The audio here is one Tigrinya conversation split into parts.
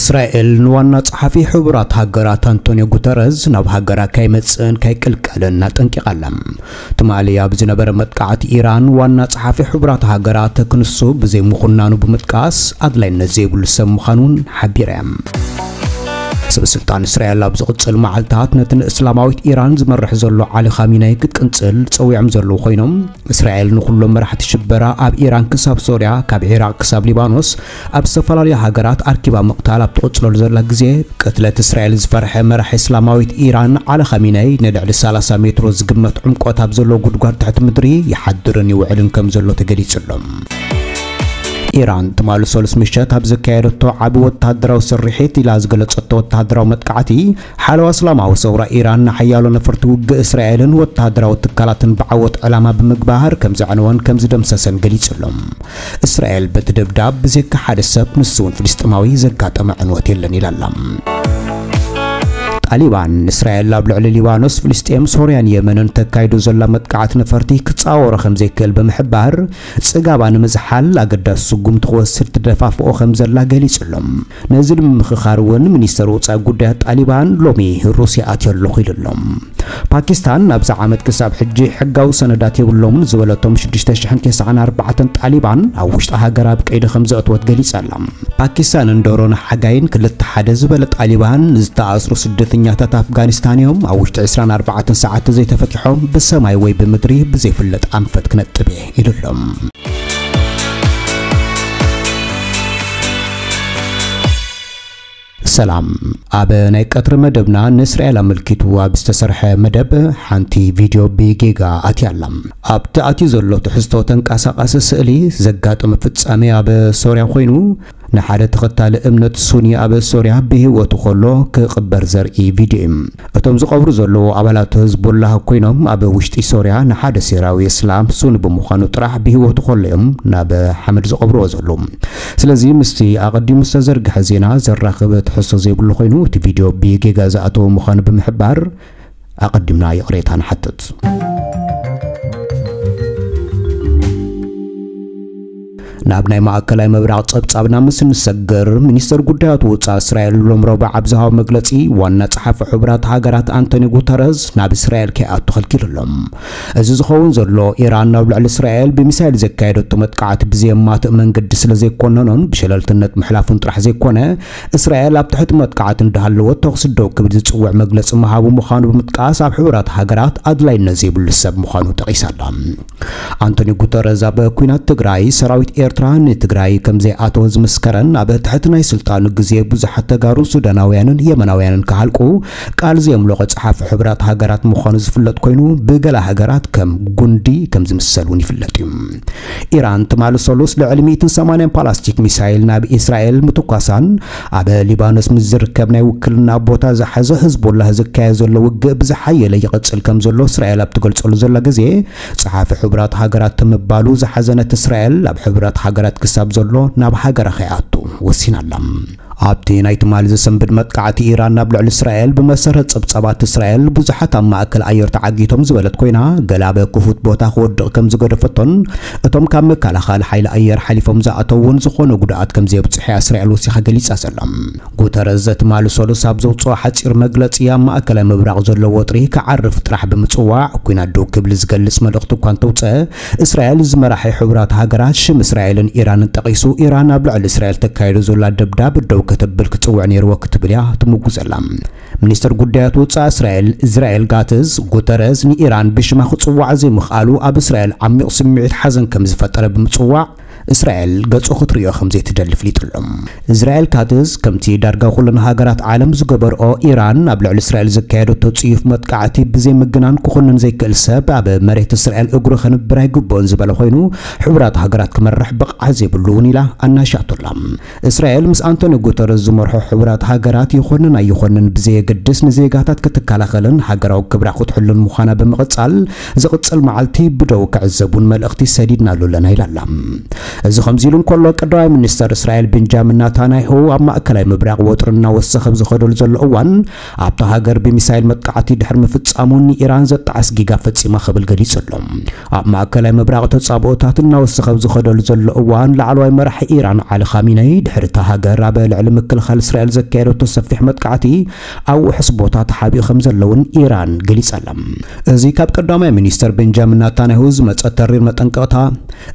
እስራኤል ንዋና ጸሓፊ ሕቡራት ሃገራት ኣንቶኒዮ ጉተረዝ ናብ ሃገራ ካይመጽእን ካይቅልቀልን ኣጠንቂቓ ኣላ። ትማሊ ኣብ ዝነበረ መጥቃዕቲ ኢራን፣ ዋና ጸሓፊ ሕቡራት ሃገራት ክንሱ ብዘይምኹናኑ ብምጥቃስ፣ ኣድላይነት ዘይብሉ ሰብ ምዃኑን ሓቢራ እያ። ሰብ ስልጣን እስራኤል ኣብ ዝቕጽል መዓልታት ነቲ ንእስላማዊት ኢራን ዝመርሕ ዘሎ ዓሊ ኻሚናይ ክትቅንጽል ጸዊዖም ዘለዉ ኮይኖም፣ እስራኤል ንኹሎም መራሕቲ ሽበራ ኣብ ኢራን ክሳብ ሶርያ፣ ካብ ዒራቕ ክሳብ ሊባኖስ ኣብ ዝተፈላለዩ ሃገራት ኣርኪባ ምቕታል ኣብ ትቕጽለሉ ዘላ ግዜ፣ ቅትለት እስራኤል ዝፈርሐ መራሒ እስላማዊት ኢራን ዓሊ ኻሚናይ ንልዕሊ ሰላሳ ሜትሮ ዝግመት ዕምቆት ኣብ ዘለዎ ጉድጓድ ትሕቲ ምድሪ ይሓድርን ይውዕልን ከም ዘሎ ተገሊጹ ኣሎ። ኢራን ትማሊ ሰሉስ ምሸት ኣብ ዘካየደቶ ዓቢ ወተሃደራዊ ስርሒት ኢላ ዝገለጸቶ ወተሃደራዊ መጥቃዕቲ፣ ሓለዋ እስላማዊ ሰውራ ኢራን ንሓያሎ ነፈርቲ ውግእ እስራኤልን ወተሃደራዊ ትካላትን ብዓወት ዕላማ ብምግባር ከም ዘዕነወን ከም ዝደምሰሰን ገሊጹ ኣሎ። እስራኤል በቲ ደብዳብ ብዘይካ ሓደ ሰብ፣ ንሱ እውን ፍልስጤማዊ፣ ዘጋጠመ ዕንወት የለን ኢላ ኣላ። ጣሊባን እስራኤል ኣብ ልዕሊ ሊባኖስ፣ ፍልስጤም፣ ሶርያን የመንን ተካይዶ ዘላ መጥቃዕቲ ነፈርቲ ክጻወሮ ከም ዘይክእል ብምሕባር፣ ጽጋባ ንምዝሓል ኣገዳሲ ስጉምቲ ክወስድ ትደፋፍኦ ከም ዘላ ገሊጹ ኣሎ። ነዚ ንምምኽኻር እውን ሚኒስተር ወጻኢ ጉዳያት ጣሊባን ሎሚ ሩስያ ኣትየ ኣለኹ ኢሉ ኣሎ። ፓኪስታን ኣብዚ ዓመት ክሳብ ሕጂ ሕጋዊ ሰነዳት የብሎምን ዝበለቶም ሽዱሽተ ሽሕን ተስዓን ኣርባዕተን ጣሊባን ኣብ ውሽጢ ሃገር ኣብ ቀይዲ ከም ዘእትወት ገሊጻ ኣላ። ፓኪስታን እንዶሮን ሓጋይን ክልተ ሓደ ዝበለ ጣሊባን፣ ዝተኣስሩ ስደተኛታት ኣፍጋኒስታን እዮም፣ ኣብ ውሽጢ ዕስራን ኣርባዕተን ሰዓት ዘይተፈቲሖም ብሰማይ ወይ ብምድሪ ብዘይፍለጥ ኣንፈት ክነጥብ እየ ኢሉ ኣሎ። ሰላም። ኣብ ናይ ቀትሪ መደብና ንእስራኤል ኣመልኪቱ ኣብ ዝተሰርሐ መደብ ሓንቲ ቪድዮ ብጌጋ ኣትያ ኣላ። ኣብቲ ኣትዩ ዘሎ ትሕዝቶ ተንቀሳቓሲ ስእሊ ዘጋጠመ ፍጻሜ ኣብ ሶርያ ኮይኑ፣ ንሓደ ተኸታሊ እምነት ሱኒ ኣብ ሶርያ ብህይወቱ ከሎ ክቕበር ዘርኢ ቪድዮ እዩ። እቶም ዝቐብሩ ዘለዉ ኣባላት ህዝቡላህ ኮይኖም፣ ኣብ ውሽጢ ሶርያ ንሓደ ሴራዊ እስላም ሱኒ ብምዃኑ ጥራሕ ብህይወቱ ከሎ እዮም ናብ ሓመድ ዝቐብርዎ ዘለዉ። ስለዚ ምስቲ ኣቐዲሙ ዝተዘርግሐ ዜና ዘራኽብ ትሕዝቶ ዘይብሉ ኮይኑ፣ እቲ ቪድዮ ብጌጋ ዝኣተወ ምዃኑ ብምሕባር ኣቐዲምና ይቕሬታ ንሓትት። ናብ ናይ ማእከላይ ምብራቕ ጸብጻብና ምስ እንሰግር፣ ሚኒስተር ጉዳያት ወጻኢ እስራኤል ሎም ረቡዕ ኣብ ዝሃቦ መግለጺ፣ ዋና ጸሓፊ ሕቡራት ሃገራት ኣንቶኒ ጉተረዝ ናብ እስራኤል ከይኣቱ ከልኪሉ ኣሎ። እዚ ዝኸውን ዘሎ፣ ኢራን ናብ ልዕሊ እስራኤል ብሚሳይል ዘካየደቶ መጥቃዕቲ ብዘየማትእ መንገዲ ስለ ዘይኮነኖን ብሸለልትነት ምሕላፉን ጥራሕ ዘይኮነ፣ እስራኤል ኣብ ትሕቲ መጥቃዕቲ እንዳሃለወት ተኹሲ ደው ክብል ዝጽውዕ መግለጺ ምሃቡ ምዃኑ ብምጥቃስ፣ ኣብ ሕቡራት ሃገራት ኣድላይነት ዘይብሉ ሰብ ምዃኑ ጠቒሳ ኣላ። ኣንቶኒ ጉተረዝ ኣብ ኲናት ትግራይ ሰራዊት ኤርትራ ንትግራይ ከም ዘይኣተወ ዝምስከረን ኣብ ትሕቲ ናይ ስልጣኑ ግዜ ብዙሓት ተጋሩን ሱዳናውያንን የመናውያንን ክሃልቁ ቃል ዘየምለቖ ጸሓፊ ሕቡራት ሃገራት ምዃኑ ዝፍለጥ ኮይኑ፣ ብገለ ሃገራት ከም ጉንዲ ከም ዝምሰል እውን ይፍለጥ እዩ። ኢራን ትማሊ ሰሉስ ልዕሊ ሚእትን ሰማንያን ፓላስቲክ ሚሳይል ናብ እስራኤል ምትኳሳን፣ ኣብ ሊባኖስ ምስ ዝርከብ ናይ ውክልና ቦታ ዝሓዘ ህዝቡላህ ዝካየድ ዘሎ ውግእ ብዝሓየለ ይቕጽል ከም ዘሎ እስራኤል ኣብ ትገልጸሉ ዘላ ግዜ፣ ጸሓፊ ሕቡራት ሃገራት ምባሉ ዝሓዘነት እስራኤል፣ ኣብ ሕቡራት ሃገራት ክሳብ ዘሎ ናብ ሃገራ ከይኣቱ ወሲና ኣላ። ኣብቲ ናይ ትማሊ ዘሰንብድ መጥቃዕቲ ኢራን ናብ ልዕሊ እስራኤል፣ ብመሰረት ጸብጻባት እስራኤል፣ ብዙሓት ኣብ ማእከል ኣየር ተዓጊቶም ዝበለት ኮይና፣ ገለ ኣብ ክፉት ቦታ ክወድቕ ከም ዝገደፈቶን፣ እቶም ካብ መከላኸሊ ሓይሊ ኣየር ሓሊፎም ዝኣተው እውን ዝኾነ ጉድኣት ከም ዘየብጽሑ እያ እስራኤል ወሲኻ ገሊጻ ዘላ። ጉተረዝ ትማሊ ሰሉስ ኣብ ዘውጽኦ ሓጺር መግለጺ፣ ኣብ ማእከላይ ምብራቕ ዘሎ ወጥሪ ክዓርፍ ጥራሕ ብምጽዋዕ፣ ኲናት ደው ክብል ዝገልጽ መልእኽቲ እኳ እንተውጽአ፣ እስራኤል ዝመራሒ ሕቡራት ሃገራት ሽም እስራኤልን ኢራንን ጠቒሱ፣ ኢራን ኣብ ልዕሊ እስራኤል ተካይዶ ዘላ ደብዳብ ደው ከተብል ክጽውዕ ነይርዎ ክትብል እያ ትምጉስ ዘላ። ሚኒስተር ጉዳያት ወጻኢ እስራኤል እዝራኤል ጋትዝ፣ ጉተረዝ ንኢራን ብሽማ ክጽዋዕ ዘይምኽኣሉ ኣብ እስራኤል ዓሚቕ ስምዒት ሓዘን ከም ዝፈጠረ ብምጽዋዕ፣ እስራኤል ገጹ ክትርእዮ ከም ዘይትደሊ ኣፍሊጡ ኣሎ። እዝራኤል ካትዝ፣ ከምቲ ዳርጋ ኩለን ሃገራት ዓለም ዝገበርኦ፣ ኢራን ኣብ ልዕሊ እስራኤል ዘካየደቶ ጽዩፍ መጥቃዕቲ ብዘይምግናን ክኹንን ዘይክእል ሰብ ኣብ መሬት እስራኤል እግሩ ከንብር ኣይግብኦን ዝበለ ኮይኑ፣ ሕቡራት ሃገራት ክመርሕ ብቕዓት ዘይብሉ እውን ኢላ ኣናሻቶላ። እስራኤል ምስ ኣንቶኒ ጉተረዝ ዝመርሖ ሕቡራት ሃገራት ይኹንን ኣይኹንን ብዘየገድስ ንዜጋታት ክትከላኸልን ሃገራዊ ክብራ ክትሕሉን ምዃና ብምቕጻል፣ ዝቕጽል መዓልቲ ብደው ክዕዘቡን መልእኽቲ ሰዲድናሉ ኣለና ኢላ ኣላ። እዚ ከምዚ ኢሉ እንከሎ፣ ቀዳማይ ሚኒስተር እስራኤል ቤንጃሚን ናታንያሁ ኣብ ማእከላይ ምብራቕ ወጥሪ እናወሰኸ ኣብ ዝኸደሉ ዘሎ እዋን፣ ኣብታ ሃገር ብሚሳይል መጥቃዕቲ ድሕሪ ምፍጻሙ ንኢራን ዘጣዕስ ጌጋ ፈጺማ ክብል ገሊጹ ኣሎ። ኣብ ማእከላይ ምብራቕ ተጻብኦታት እናወሰኸ ኣብ ዝኸደሉ ዘሎ እዋን፣ ላዕለዋይ መራሒ ኢራን ዓሊ ኻሚነይ ድሕሪ እታ ሃገር ኣብ ልዕሊ ምክልኻል እስራኤል ዘካየደቶ ሰፊሕ መጥቃዕቲ ኣብ ውሑስ ቦታ ተሓቢኡ ከም ዘለውን ኢራን ገሊጻ ኣላ። እዚ ካብ ቀዳማይ ሚኒስተር ቤንጃሚን ናታንያሁ ዝመጸ ተሪር መጠንቀቕታ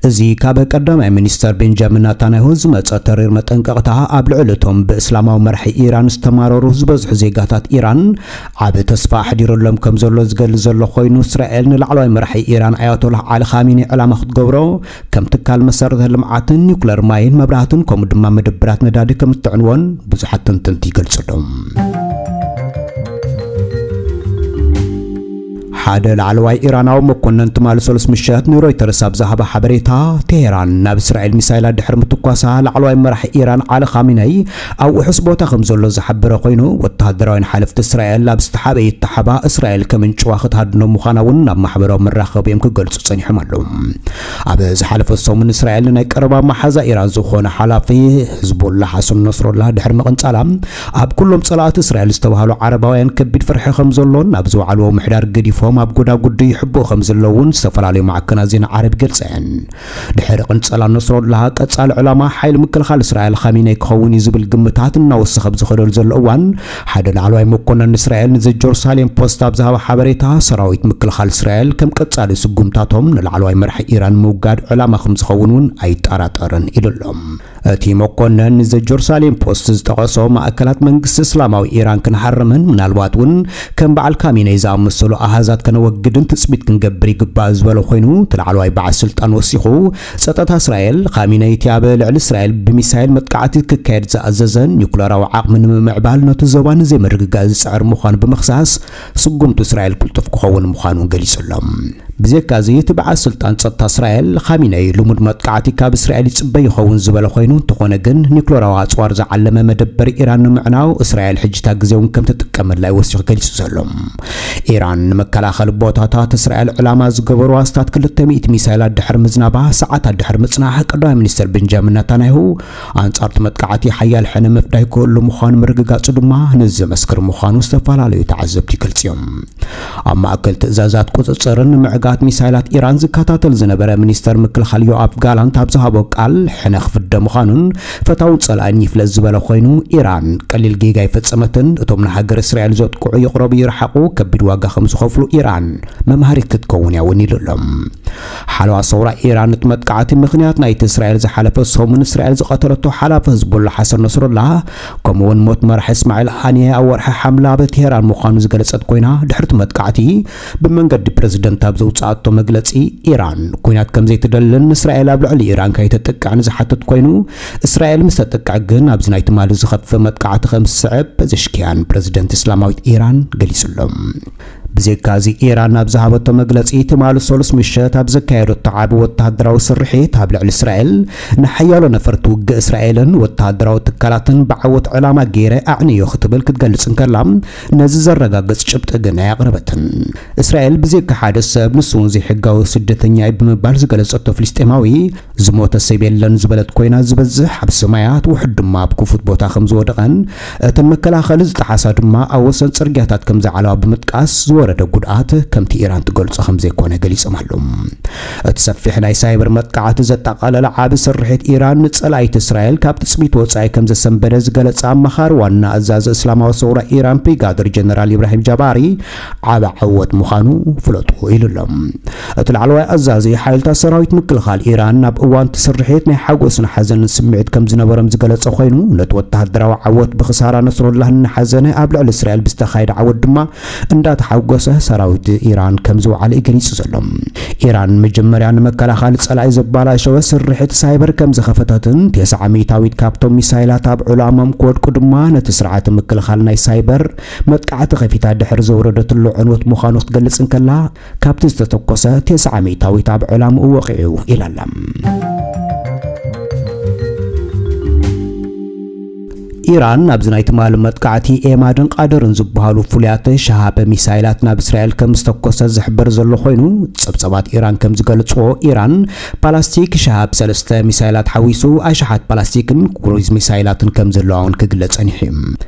እዚ ካብ ቀዳማይ ሚኒስተር ቤንጃሚን ናታንያሁ ዝመጸ ተሪር መጠንቀቕታ፣ ኣብ ልዕሊ እቶም ብእስላማዊ መራሒ ኢራን ዝተማረሩ ዝበዝሑ ዜጋታት ኢራን ዓቢ ተስፋ ኣሕዲሩሎም ከም ዘሎ ዝገልጽ ዘሎ ኮይኑ፣ እስራኤል ንላዕለዋይ መራሒ ኢራን ኣያቶላህ ዓሊ ኻሚኒ ዕላማ ክትገብሮ፣ ከም ትካል መሰረተ ልምዓትን ኒውክለር ማይን መብራህትን ከምኡ ድማ መደብራት ነዳዲ ከም እትዕንዎን ብዙሓት ተንተንቲ ይገልጹ ኣለዉ። ሓደ ላዕለዋይ ኢራናዊ መኮነን ትማሊ ሰሉስ ምሸት ንሮይተርስ ኣብ ዝሃበ ሓበሬታ፣ ቴሄራን ናብ እስራኤል ሚሳይላት ድሕሪ ምትኳሳ፣ ላዕለዋይ መራሒ ኢራን ዓሊ ኻሚነይ ኣብ ውሑስ ቦታ ከም ዘሎ ዝሓበረ ኮይኑ፣ ወተሃደራውያን ሓለፍቲ እስራኤል ኣብ ዝተሓበ ይተሓባ እስራኤል ከምንጭዋ ክትሃድኖ ምዃና እውን ናብ ማሕበራዊ መራኸቢ እዮም ክገልጹ ጸኒሖም ኣለዉ። ኣብ ዝሓለፈ ሰሙን እስራኤል ንናይ ቀረባ መሓዛ ኢራን ዝኾነ ሓላፊ ህዝቦላ ሓሰን ነስሮላ ድሕሪ ምቕንጻላ፣ ኣብ ኩሎም ጸላእቲ እስራኤል ዝተባህሉ ዓረባውያን ከቢድ ፍርሒ ከም ዘሎን፣ ኣብ ዝወዓልዎ ምሕዳር ገዲፎም ኣብ ጎዳጉዲ ይሕብኡ ከም ዘለውን ዝተፈላለዩ ማዕከናት ዜና ዓረብ ይገልጸን። ድሕሪ ቅንጸላ ነስሮላ፣ ቀጻሊ ዕላማ ሓይሊ ምክልኻል እስራኤል ኻሚነይ ክኸውን እዩ ዝብል ግምታት እናወሰኸ ኣብ ዝኸደሉ ዘሎ እዋን፣ ሓደ ላዕለዋይ መኮነን እስራኤል ንዘ ጀሩሳሌም ፖስት ኣብ ዝሃበ ሓበሬታ፣ ሰራዊት ምክልኻል እስራኤል ከም ቀጻሊ ስጉምታቶም ንላዕለዋይ መራሒ ኢራን ምውጋድ ዕላማ ከም ዝኸውን እውን ኣይጠራጠርን ኢሉ ኣሎ። እቲ መኮነን ንዘ ጀሩሳሌም ፖስት ዝጠቐሶ፣ ማእከላት መንግስቲ እስላማዊ ኢራን ክንሃርምን ምናልባት እውን ከም በዓል ካሚነይ ዝኣመሰሉ ኣሃዛት ከነወግድን ትጽቢት ክንገብር ይግባእ ዝበለ ኮይኑ፣ እቲ ላዕለዋይ በዓል ስልጣን ወሲኹ፣ ጸጥታ እስራኤል፣ ካሚነይ እቲ ኣብ ልዕሊ እስራኤል ብሚሳይል መጥቃዕቲ ክካየድ ዝኣዘዘ ኒውክለራዊ ዓቕሚ ንምምዕባል ነቲ ዞባ ንዘይምርግጋእ ዝጽዕር ምዃኑ ብምኽሳስ፣ ስጉምቱ እስራኤል ቅልጡፍ ክኸውን ምዃኑ ገሊጹ ኣሎ። ብዘይካዚ፣ እቲ በዓል ስልጣን ጸጥታ እስራኤል፣ ኻሚነይ፣ ልሙድ መጥቃዕቲ ካብ እስራኤል ይጽበ ይኸውን ዝበለ ኮይኑ፣ እንተኾነ ግን፣ ኒውክለራዊ ኣጽዋር ዝዓለመ መደበር ኢራን ንምዕናው እስራኤል ሕጂታ ግዜ እውን ከም ትጥቀመላ እዩ ወሲኹ ገሊጹ ዘሎ። ኢራን ንመከላኸሊ ቦታታት እስራኤል ዕላማ ዝገበሩ ኣስታት ክልተ ሚእቲ ሚሳይላት ድሕሪ ምዝናባ፣ ሰዓታት ድሕሪ ምጽናሕ፣ ቀዳማይ ሚኒስተር ቤንጃሚን ናታንያሁ ኣንጻር እቲ መጥቃዕቲ ሓያል ሕነ ምፍዳይ ክህሉ ምዃኑ ምርግጋጹ ድማ ነዚ ዘመስክር ምዃኑ ዝተፈላለዩ ተዓዘብቲ ይገልጹ እዮም። ኣብ ማእከል ትእዛዛት ቁጽጽርን ምዕጋት ሚሳይላት ኢራን ዝከታተል ዝነበረ ሚኒስተር ምክልኻል ዮኣፍ ጋላንት ኣብ ዝሃቦ ቃል፣ ሕነ ክፍደ ምዃኑን ፈታውን ጸላእን ይፍለጥ ዝበለ ኮይኑ፣ ኢራን ቀሊል ጌጋ ኣይፈጸመትን፣ እቶም ንሃገር እስራኤል ዘጥቅዑ ይቕረቡ ይርሓቑ፣ ከቢድ ዋጋ ከም ዝኸፍሉ ኢራን መምሃሪት ክትከውን እያ እውን ኢሉ ኣሎ። ሓለዋ ሰውራ ኢራን፣ እቲ መጥቃዕቲ ምኽንያት ናይቲ እስራኤል ዝሓለፈ ሰሙን እስራኤል ዝቐተለቶ ሓላፊ ህዝቡላ ሓሰን ነስሩላ፣ ከምኡውን ሞት መራሒ እስማዒል ሃኒየ ኣብ ወርሒ ሓምለ ኣብ ቴሄራን ምዃኑ ዝገለጸት ኮይና፣ ድሕሪ እቲ መጥቃዕቲ ብመንገዲ ፕረዚደንት ኣብ ዘውጽኣቶ መግለጺ፣ ኢራን ኲናት ከም ዘይትደልን እስራኤል ኣብ ልዕሊ ኢራን ከይተጥቅዕን ዝሓተት ኮይኑ፣ እስራኤል ምስ ተጥቅዕ ግን ኣብዚ ናይ ትማሊ ዝኸፍእ መጥቃዕቲ ከም ዝስዕብ ፐዘሽኪያን፣ ፕረዚደንት እስላማዊት ኢራን፣ ገሊጹ ኣሎ። ብዘይካዚ፣ ኢራን ኣብ ዝሃበቶ መግለጺ፣ ትማሊ ሰሉስ ምሸት ኣብ ዘካየደቶ ዓቢ ወተሃደራዊ ስርሒት ኣብ ልዕሊ እስራኤል፣ ንሓያሎ ነፈርቲ ውግእ እስራኤልን ወተሃደራዊ ትካላትን ብዓወት ዕላማ ገይረ ኣዕንዮ ክትብል ክትገልጽ እንከላ፣ ነዚ ዘረጋግጽ ጭብጢ ግን ኣየቕረበትን። እስራኤል ብዘይካ ሓደ ሰብ፣ ንሱ እውን ዘይሕጋዊ ስደተኛ እዩ ብምባል ዝገለጸቶ ፍልስጤማዊ፣ ዝሞተ ሰብ የለን ዝበለት ኮይና፣ ዝበዝሕ ኣብ ሰማያት፣ ውሑድ ድማ ኣብ ክፉት ቦታ ከም ዝወደቐን፣ እተን መከላኸሊ ዝጠሓሳ ድማ ኣብ ወሰን ጽርግያታት ከም ዝዓለዋ ብምጥቃስ፣ ዝወረደ ጉድኣት ከምቲ ኢራን ትገልጾ ከም ዘይኮነ ገሊጾም ኣለዉ። እቲ ሰፊሕ ናይ ሳይበር መጥቃዕቲ ዘጠቓለለ ዓቢ ስርሒት ኢራን፣ ንጸላኢት እስራኤል ካብ ትጽቢት ወጻኢ ከም ዘሰንበደ ዝገለጸ ኣማኻሪ ዋና ኣዛዚ እስላማዊ ሰውራ ኢራን ብሪጋደር ጀነራል ኢብራሂም ጃባሪ፣ ዓቢ ዓወት ምዃኑ ፍለጡ ኢሉ ኣሎ። እቲ ላዕለዋይ ኣዛዚ ሓይልታት ሰራዊት ምክልኻል ኢራን፣ ኣብ እዋን እቲ ስርሒት ናይ ሓጎስን ሓዘንን ስምዒት ከም ዝነበሮም ዝገለጸ ኮይኑ፣ ነቲ ወተሃደራዊ ዓወት ብኽሳራ ነስሩላህ እናሓዘነ፣ ኣብ ልዕሊ እስራኤል ብዝተኻየደ ዓወት ድማ እንዳተሓጎሰ ሰራዊት ኢራን ከም ዝወዓለ እዩ ገሊጹ ዘሎ። ኢራን መጀመርያ ንመከላኸሊ ጸላኢ ዘባላሸወ ስርሒት ሳይበር ከም ዝኸፈተትን፣ ተስዓ ሚእታዊት ካብቶም ሚሳይላት ኣብ ዕላሞም ክወድቁ ድማ ነቲ ስርዓተ ምክልኻል ናይ ሳይበር መጥቃዕቲ ከፊታ ድሕሪ ዘውረደትሉ ዕንወት ምዃኑ ክትገልጽ እንከላ፣ ካብቲ ዝተተኮሰ ተስዓ ሚእታዊት ኣብ ዕላምኡ ወቒዑ ኢላ ኣላ። ኢራን ኣብዚ ናይ ትማሊ መጥቃዕቲ ኤማድን ቃደርን ዝበሃሉ ፍሉያት ሸሃብ ሚሳይላት ናብ እስራኤል ከም ዝተኮሰ ዝሕበር ዘሎ ኮይኑ፣ ጸብጸባት ኢራን ከም ዝገልጽዎ፣ ኢራን ፓላስቲክ ሸሃብ ሰለስተ ሚሳይላት ሓዊሱ ኣሽሓት ፓላስቲክን ክሩይዝ ሚሳይላትን ከም ዘለዋ እውን ክግለጽ ጸኒሑ እዩ።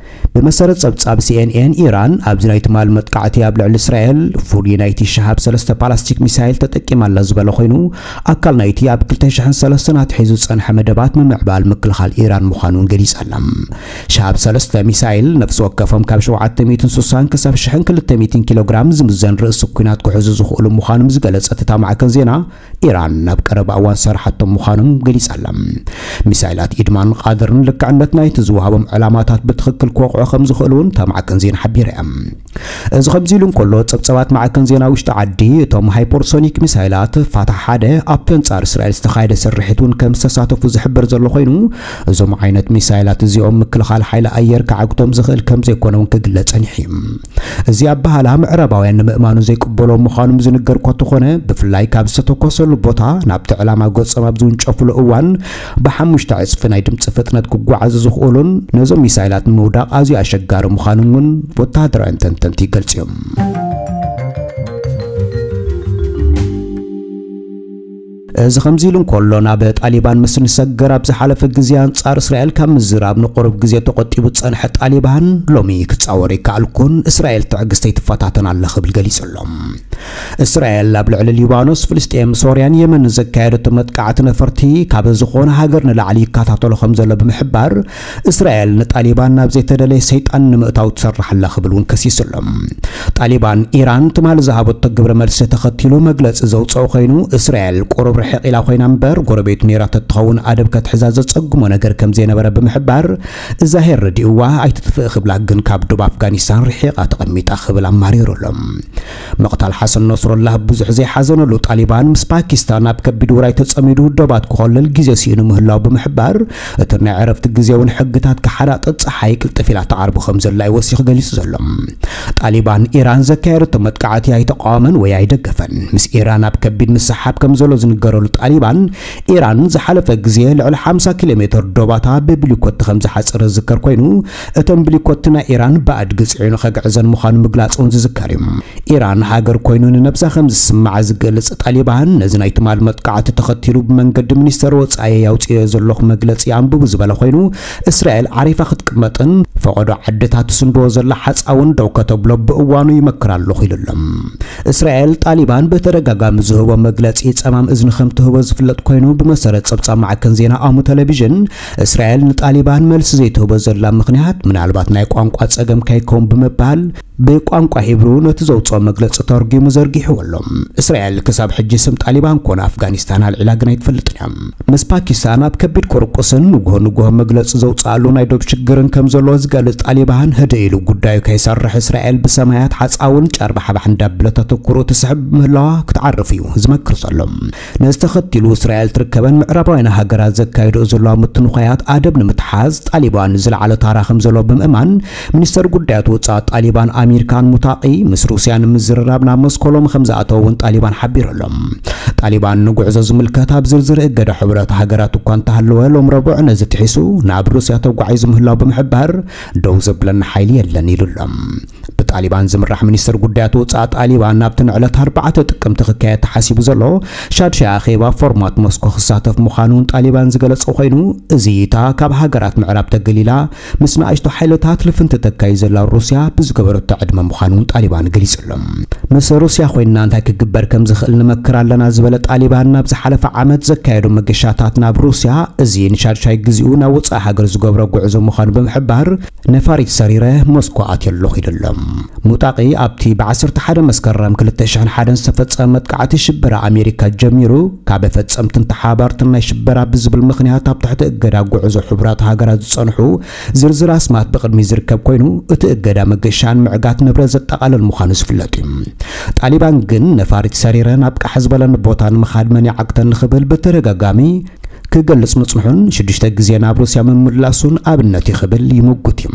ብመሰረት ጸብጻብ ሲኤንኤን፣ ኢራን ኣብዚ ናይ ትማሊ መጥቃዕቲ ኣብ ልዕሊ እስራኤል ፍሉይ ናይቲ ሸሃብ ሰለስተ ፓላስቲክ ሚሳይል ተጠቂማ ኣላ ዝበለ ኮይኑ፣ ኣካል ናይቲ ኣብ ክልተ ሽሕን ሰለስተን ኣትሒዙ ዝጸንሐ መደባት ምምዕባል ምክልኻል ኢራን ምዃኑ እውን ገሊጻ ኣላ። ሸሃብ ሰለስተ ሚሳይል ነፍሲ ወከፎም ካብ ሸውዓተ ሚእትን ስሳን ክሳብ ሽሕን ክልተ ሚእትን ኪሎ ግራም ዝምዘን ርእሲ ኲናት ክሕዙ ዝኽእሉ ምዃኖም ዝገለጸት እታ ማዕከን ዜና፣ ኢራን ናብ ቀረባ እዋን ዝሰርሓቶም ምዃኖም ገሊጻ ኣላ። ሚሳይላት ኢድማን ቃድርን ልክዕነት ናይቲ ዝወሃቦም ዕላማታት ብትኽክል ክወቕዑ ከም ዝኽእሉ እውን እታ ማዕከን ዜና ሓቢራ እያ። እዚ ከምዚ ኢሉ እንከሎ፣ ጸብጸባት ማዕከን ዜና ውሽጢ ዓዲ፣ እቶም ሃይፐርሶኒክ ሚሳይላት ፋታሕ ሓደ ኣብቲ ኣንጻር እስራኤል ዝተኻየደ ስርሒት እውን ከም ዝተሳተፉ ዝሕብር ዘሎ ኮይኑ፣ እዞም ዓይነት ሚሳይላት እዚኦም ምክልኻል ሓይሊ ኣየር ክዓግቶም ዝኽእል ከም ዘይኮነ እውን ክግለጽ ጸኒሑ እዩ። እዚ ኣበሃህላ ምዕራባውያን ንምእማኑ ዘይቅበሎ ምዃኖም ዝንገር እኳ እንተኾነ፣ ብፍላይ ካብ ዝተተኮሰሉ ቦታ ናብቲ ዕላማ ገጾም ኣብ ዝውንጨፍሉ እዋን ብሓሙሽተ ዕጽፊ ናይ ድምጺ ፍጥነት ክጓዓዙ ዝኽእሉን ነዞም ሚሳይላት ንምውዳቕ ኣዝዩ ኣሸጋሪ ምዃኑን እውን ወተሃደራውያን ተንተንቲ ይገልጹ እዮም። እዚ ከምዚ ኢሉ እንከሎ፣ ናብ ጣሊባን ምስ ንሰገር ኣብ ዝሓለፈ ግዜ ኣንጻር እስራኤል ካብ ምዝራብ ንቁሩብ ግዜ ተቖጢቡ ዝጸንሐ ጣሊባን፣ ሎሚ ክጻወር ይከኣልኩን እስራኤል ትዕግስተይ ትፈታተን ኣላ ክብል ገሊጹ ኣሎ። እስራኤል ኣብ ልዕሊ ሊባኖስ፣ ፍልስጤም፣ ሶርያን የመንን ዘካየደቶ መጥቃዕቲ ነፈርቲ ካብ ዝኾነ ሃገር ንላዕሊ ይከታተሎ ከም ዘሎ ብምሕባር፣ እስራኤል ንጣሊባን ናብ ዘይተደለየ ሰይጣን ንምእታው ትሰርሕ ኣላ ክብል እውን ከሲሱ ኣሎ። ጣሊባን ኢራን ትማሊ ዝሃበቶ ግብረ መልሲ ተኸቲሉ መግለጺ ዘውጽኦ ኮይኑ፣ እስራኤል ቁሩብ ርሕቕ ኢላ ኮይና እምበር፣ ጎረቤቱ ነይራ ተትኸውን ኣደብ ከትሕዛ ዘጸግሞ ነገር ከም ዘይነበረ ብምሕባር፣ እዛ ሄር ረዲእዋ ኣይትጥፍእ ክብላ ግን ካብ ዶብ ኣፍጋኒስታን ርሒቓ ተቐሚጣ ክብል ኣማሪሩ ኣሎ። ምቕታል ሓሰን ነስሩላህ ብዙሕ ዘይሓዘነሉ ጣሊባን፣ ምስ ፓኪስታን ኣብ ከቢድ ውራይ ተጸሚዱ ዶባት ክኾልል ግዜ ስኢኑ ምህላው ብምሕባር፣ እቲ ናይ ዕረፍቲ ግዜ እውን ሕግታት ክሓዳጥጥ ጸሓይ ቅልጥፍ ኢላ ትዓርቦ ከም ዘላ እዩ ወሲኹ ገሊጹ ዘሎ። ጣሊባን ኢራን ዘካየደቶ መጥቃዕቲ ኣይተቃወመን ወይ ኣይደገፈን። ምስ ኢራን ኣብ ከቢድ ምስሓብ ከም ዘሎ ዝንገረሉ ጣሊባን፣ ኢራን ዝሓለፈ ግዜ ልዕሊ ሓምሳ ኪሎ ሜትር ዶባታ ብብሊኮት ከም ዝሓጸረ ዝዝከር ኮይኑ፣ እተን ብሊኮት ናይ ኢራን ብኣድጊ ጽዒኑ ከግዕዘን ምዃኑ ምግላጹ እውን ዝዝከር እዩ። ኢራን ሃገር ኮይኑ ንነብሳ ከም ዝስምዓ ዝገልጽ ጣሊባን፣ ነዚ ናይ ትማል መጥቃዕቲ ተኸቲሉ ብመንገዲ ሚኒስተር ወጻኢ ኣውጽኦ ዘለኹ መግለጺ ኣንብቡ ዝበለ ኮይኑ፣ እስራኤል ዓሪፋ ክትቅመጥን ፈቐዶ ዓድታት ትስንድዎ ዘላ ሓጻውን ደው ከተብሎ ብእዋኑ ይመክር ኣለኹ ኢሉ ኣሎ። እስራኤል ጣሊባን ብተደጋጋሚ ዝህቦ መግለጺ ጸማም እዝኒ ከም ትህቦ ዝፍለጥ ኮይኑ፣ ብመሰረት ጸብጻብ ማዕከን ዜና ኣሙ ቴሌቪዥን፣ እስራኤል ንጣሊባን መልሲ ዘይትህቦ ዘላ ምኽንያት ምናልባት ናይ ቋንቋ ጸገም ከይከውን ብምባል፣ ብቋንቋ ሂብሩ ነቲ ዘውጽኦ መግለጺ ተርጒሙ ዘርጊሕዎ ኣሎ። እስራኤል ክሳብ ሕጂ ስም ጣሊባን ኮነ ኣፍጋኒስታን ኣልዒላ ግን ኣይትፈልጥን እያ። ምስ ፓኪስታን ኣብ ከቢድ ቁርቁስን ንግሆ ንግሆ መግለጺ ዘውጽኣሉ ናይ ዶብ ሽግርን ከም ዘለዎ ዝገልጽ ጣሊባን፣ ህድእ ኢሉ ጉዳዩ ከይሰርሕ እስራኤል ብሰማያት ሓጻውን ጨርባሕባሕ እንዳበለት ኣተኩሮ ትስሕብ ምህላዋ ክትዓርፍ እዩ ዝመክር ዘሎ። ነዚ ተኸቲሉ እስራኤል ትርከበን ምዕራባውያን ሃገራት ዘካይድኦ ዘለዋ ምትንዃያት ኣደብ ንምትሓዝ ጣሊባን ዝለዓለ ታራ ከም ዘለዎ ብምእማን፣ ሚኒስተር ጉዳያት ወጻኢ ጣሊባን ኣሚር ካን ሙታቂ ምስ ሩስያ ንምዝርራብ ናብ ሞስኮ ሎሚ ከም ዝኣተወ እውን ጣሊባን ሓቢሩ ኣሎ። ጣሊባን ንጉዕዞ ዝምልከት ኣብ ዝርዝር እገዳ ሕቡራት ሃገራት እኳ እንተሃለወ፣ ሎም ረቡዕ ነዚ ጥሒሱ ናብ ሩስያ ተጓዒዙ ምህላው ብምሕባር፣ ደው ዘብለና ሓይሊ የለን ኢሉ ኣሎ። ብጣሊባን ዝምራሕ ሚኒስተር ጉዳያት ወጻኢ ጣሊባን፣ ናብቲ ንዕለት ኣርባዕተ ጥቅምቲ ክካየድ ተሓሲቡ ዘሎ ሻድሻይ ኣኼባ ፎርማት ሞስኮ ክሳተፍ ምዃኑ እውን ጣሊባን ዝገለጸ ኮይኑ፣ እዚ እታ ካብ ሃገራት ምዕራብ ተገሊላ ምስ ንኣሽቱ ሓይልታት ልፍንቲ ተካይድ ዘላ ሩስያ ብዝገበረቶ ዕድመ ምዃኑ እውን ጣሊባን ገሊጹ ኣሎ። ምስ ሩስያ ኮይንና እንታይ ክግበር ከም ዝኽእል ንመክር ኣለና ዝበለ ጣሊባን፣ ናብ ዝሓለፈ ዓመት ዘካየዶ መገሻታት ናብ ሩስያ፣ እዚ ንሻድሻይ ግዜኡ ናብ ወጻኢ ሃገር ዝገብሮ ጉዕዞ ምዃኑ ብምሕባር፣ ነፋሪት ሰሪረ ሞስኮ ኣትየ ኣለኹ ኢሉ ኣሎ። ሙጣቂ ኣብቲ ብዓሰርተ ሓደ መስከረም ክልተ ሽሕን ሓደን ዝተፈጸመ መጥቃዕቲ ሽበራ ኣሜሪካ ጀሚሩ፣ ካብ ፈጸምትን ተሓባርትን ናይ ሽበራ ብዝብል ምኽንያት ኣብ ትሕቲ እገዳ ጉዕዞ ሕቡራት ሃገራት ዝጸንሑ ዝርዝር ኣስማት ብቕድሚ ዝርከብ ኮይኑ፣ እቲ እገዳ መገሻን ምዕጋት ንብረት ዘጠቓልል ምዃኑ ዝፍለጥ እዩ። ጣሊባን ግን ነፋሪት ሰሪረ ናብ ቃሕ ዝበለኒ ቦታ ንምኻድ መን ይዓግተኒ ክብል ብተደጋጋሚ ክገልጽ ምጽንሑን ሽዱሽተ ግዜ ናብ ሩስያ ምምላሱን ኣብነት እዩ ክብል ይምጉት እዩ።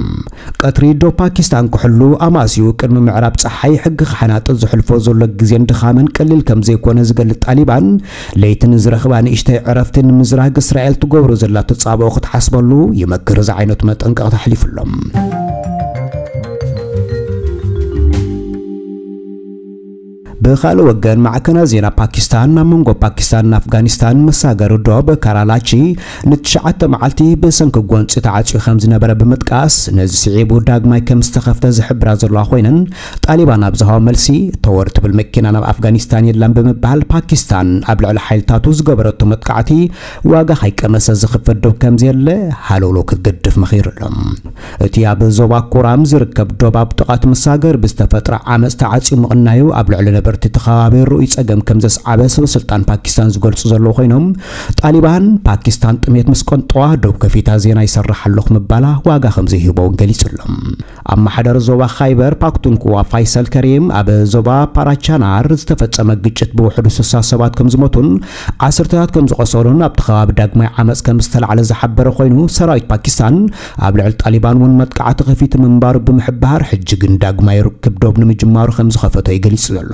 ቀትሪ ዶ ፓኪስታን ክሕሉ ኣማስዩ ቅድሚ ምዕራብ ጸሓይ ሕጊ ክሓናጥጥ ዝሕልፎ ዘሎ ግዜን ድኻምን ቀሊል ከም ዘይኮነ ዝገልጽ ጣሊባን፣ ለይቲ ንዝረኽባ ንእሽተይ ዕረፍቲ ንምዝራግ እስራኤል ትገብሮ ዘላ ተጻብኦ ክትሓስበሉ ይመክር ዝዓይነቱ መጠንቀቕታ ኣሕሊፉሎም። ብኻልእ ወገን ማዕከናት ዜና ፓኪስታን ናብ መንጎ ፓኪስታንን ኣፍጋኒስታን መሳገሪ ዶብ ካራላቺ ንትሽዓተ መዓልቲ ብሰንኪ ጎንፂ ተዓፅዩ ከም ዝነበረ ብምጥቃስ፣ ነዚ ስዒቡ ዳግማይ ከም ዝተኸፍተ ዝሕብራ ዘለዋ ኮይነን፣ ጣሊባን ኣብ ዝሃቦ መልሲ፣ ተወር ትብል መኪና ናብ ኣፍጋኒስታን የላን ብምባል፣ ፓኪስታን ኣብ ልዕሊ ሓይልታቱ ዝገበረቶ መጥቃዕቲ ዋጋ ከይቀመሰ ዝኽፈል ዶብ ከም ዘየለ ሃለውለው ክትገድፍ መኺሩ ኣሎ። እቲ ኣብ ዞባ ኮራም ዝርከብ ዶብ ኣብ ጥቓ እቲ መሳገሪ ብዝተፈጥረ ዓመጽ ተዓጽዩ ምቕናዩ ኣብ ልዕሊ ነበርቲ እቲ ከባቢ ርኡይ ጸገም ከም ዘስዓበ ሰበ ስልጣን ፓኪስታን ዝገልጹ ዘለዉ ኮይኖም፣ ጣሊባን ፓኪስታን ጥሜት ምስ ቀንጠዋ ዶብ ከፊታ ዜና ይሰርሕ ኣለኹ ምባላ ዋጋ ከም ዘይህቦ እውን ገሊጹ ኣሎ። ኣመሓዳሪ ዞባ ኻይበር ፓክቱንክዋ ፋይሰል ከሪም ኣብ ዞባ ፓራቻናር ዝተፈጸመ ግጭት ብውሕዱ ስሳ ሰባት ከም ዝሞቱን ዓሰርተታት ከም ዝቆሰሉን ኣብቲ ከባቢ ዳግማይ ዓመጽ ከም ዝተላዕለ ዝሓበረ ኮይኑ፣ ሰራዊት ፓኪስታን ኣብ ልዕሊ ጣሊባን እውን መጥቃዕቲ ከፊቱ ምንባሩ ብምሕባር፣ ሕጂ ግን ዳግማይ ርክብ ዶብ ንምጅማሩ ከም ዝኸፈቶ እዩ ገሊጹ ዘሎ።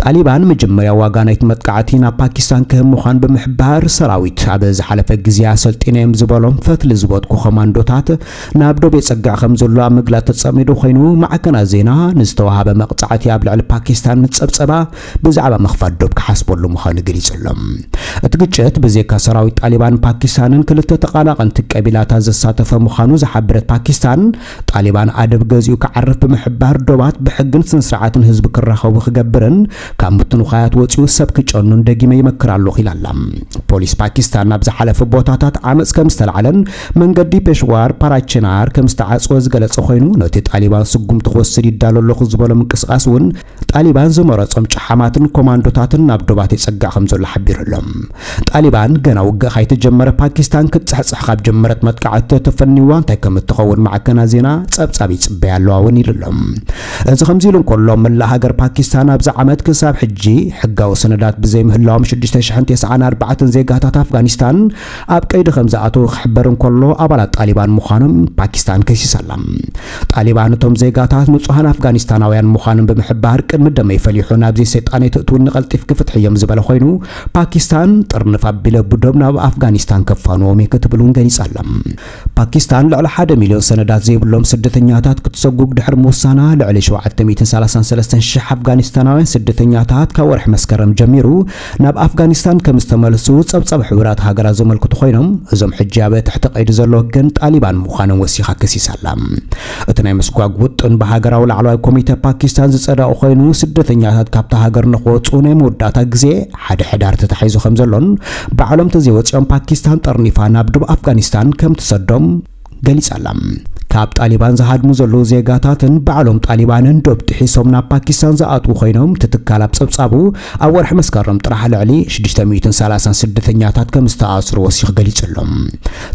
ጣሊባን መጀመርያ ዋጋ ናይቲ መጥቃዕቲ ናብ ፓኪስታን ክህብ ምዃን ብምሕባር፣ ሰራዊት ኣብ ዝሓለፈ ግዜ ኣሰልጢነዮም ዝበሎም ፈትሊ ዝበትኩ ኮማንዶታት ናብ ዶብ የጸግዕ ከም ዘሎ ኣብ ምግላጽ ተጸሚዱ ኮይኑ፣ ማዕከናት ዜና ንዝተዋሃበ መቕጻዕቲ ኣብ ልዕሊ ፓኪስታን ምስ ጸብጸባ ብዛዕባ ምኽፋት ዶብ ክሓስበሉ ምዃኑ ገሊጹ ኣሎ። እቲ ግጭት ብዘይካ ሰራዊት ጣሊባን ፓኪስታንን ክልተ ተቓናቐንቲ ቀቢላታት ዘሳተፈ ምዃኑ ዝሓበረት ፓኪስታን፣ ጣሊባን ኣደብ ገዚኡ ክዓርፍ ብምሕባር ዶባት ብሕግን ስነ ስርዓትን ህዝቢ ክራኸቡ ክገብርን ካብ ምትንዃያት ወጺኡ ሰብ ክጨኑን ደጊመ ይመክር ኣለኹ ኢላ ኣላ። ፖሊስ ፓኪስታን ኣብ ዝሓለፈ ቦታታት ዓመጽ ከም ዝተላዕለን መንገዲ ፔሽዋር ፓራችናር ከም ዝተዓጽወ ዝገለጸ ኮይኑ፣ ነቲ ጣሊባን ስጉምቲ ክወስድ ይዳሎ ኣለኹ ዝበሎ ምንቅስቓስ እውን ጣሊባን ዝመረጾም ጨሓማትን ኮማንዶታትን ናብ ዶባት የጸግዕ ከም ዘሎ ሓቢሩ ኣሎ። ጣሊባን ገና ውግእ ካይተጀመረ ፓኪስታን ክትጽሕጽሕ ካብ ጀመረት መጥቃዕቲ ተፈኒዋ እንታይ ከም እትኸውን ማዕከናት ዜና ጸብጻብ ይጽበያ ኣለዋ እውን ኢሉ ኣሎ። እዚ ከምዚ ኢሉ እንከሎ፣ መላእ ሃገር ፓኪስታን ኣብዚ ዓመት ክሳብ ሕጂ ሕጋዊ ሰነዳት ብዘይምህላዎም ሽዱሽተ ሽሕን ተስዓን ኣርባዕተን ዜጋታት ኣፍጋኒስታን ኣብ ቀይዲ ከም ዝኣተዉ ክሕበር እንከሎ፣ ኣባላት ጣሊባን ምዃኖም ፓኪስታን ከሲሳ ኣላ። ጣሊባን እቶም ዜጋታት ንጹሃን ኣፍጋኒስታናውያን ምዃኖም ብምሕባር፣ ቅድሚ ደመይ ፈሊሑ ናብዚ ሰይጣን ኣይትእትውኒ ቀልጢፍኪ ፍትሕዮም ዝበለ ኮይኑ፣ ፓኪስታን ጥርንፍ ኣቢለ ብዶብ ናብ ኣፍጋኒስታን ከፋንዎም እየ ክትብል እውን ገሊጻ ኣላ። ፓኪስታን ልዕሊ ሓደ ሚልዮን ሰነዳት ዘይብሎም ስደተኛታት ክትሰጉግ ድሕሪ ምውሳና፣ ልዕሊ ሸውዓተ ሚእትን ሰላሳን ሰለስተን ሽሕ ኣፍጋኒስታናውያን ስደተኛታት ካብ ወርሒ መስከረም ጀሚሩ ናብ ኣፍጋኒስታን ከም ዝተመልሱ ጸብጻብ ሕቡራት ሃገራት ዘመልክቱ ኮይኖም፣ እዞም ሕጂ ኣብ ትሕቲ ቀይዲ ዘለዉ ግን ጣሊባን ምዃኖም ወሲኻ ከሲሳ ኣላ። እቲ ናይ ምስጓግ ውጥን ብሃገራዊ ላዕለዋይ ኮሚተ ፓኪስታን ዝጸደቐ ኮይኑ፣ ስደተኛታት ካብታ ሃገር ንኽወጹ ናይ መወዳእታ ግዜ ሓደ ሕዳር ተታሒዙ ከም ዘሎን፣ ባዕሎም ተዘይወጺኦም ፓኪስታን ጠርኒፋ ናብ ዶብ ኣፍጋኒስታን ከም ትሰዶም ገሊጻ ኣላ። ካብ ጣሊባን ዝሃድሙ ዘለዉ ዜጋታትን ባዕሎም ጣሊባንን ዶብ ጥሒሶም ናብ ፓኪስታን ዝኣትዉ ኮይኖም፣ እቲ ትካል ኣብ ጸብጻቡ ኣብ ወርሒ መስከረም ጥራሕ ልዕሊ ሽዱሽተ ሚእትን ሰላሳን ስደተኛታት ከም ዝተኣስሩ ወሲኹ ገሊጹ ኣሎ።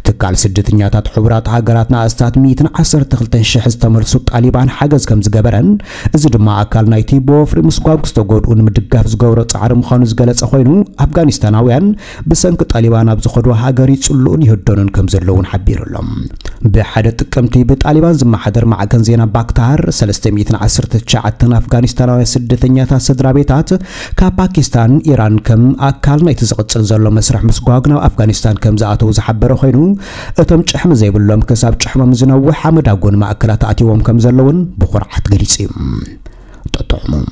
ትካል ስደተኛታት ሕቡራት ሃገራት ንኣስታት ሚእትን ዓሰርተ ክልተን ሽሕ ዝተመልሱ ጣሊባን ሓገዝ ከም ዝገበረን፣ እዚ ድማ ኣካል ናይቲ ብወፍሪ ምስጓግ ዝተጎድኡ ንምድጋፍ ዝገብሮ ጻዕሪ ምዃኑ ዝገለጸ ኮይኑ፣ ኣፍጋኒስታናውያን ብሰንኪ ጣሊባን ኣብ ዝኸድዋ ሃገር ይጽልኡን ይህደኑን ከም ዘለዉን ሓቢሩ ኣሎ። ብሓደ ጥቅምቲ ብጣሊባን ዝመሓደር ማዕከን ዜና ባክታር፣ ሰለስተ ሚእትን ዓሰርተ ትሽዓተን ኣፍጋኒስታናውያን ስደተኛታት ስድራ ቤታት ካብ ፓኪስታን፣ ኢራን ከም ኣካል ናይቲ ዝቕጽል ዘሎ መስርሕ ምስጓግ ናብ ኣፍጋኒስታን ከም ዝኣተዉ ዝሓበረ ኮይኑ፣ እቶም ጭሕሚ ዘይብሎም ክሳብ ጭሕሞም ዝነውሕ ኣብ መዳጎኒ ማእከላት ኣትይዎም ከም ዘለዉን ብኹርዓት ገሊጹ እዩ። ጥዑም።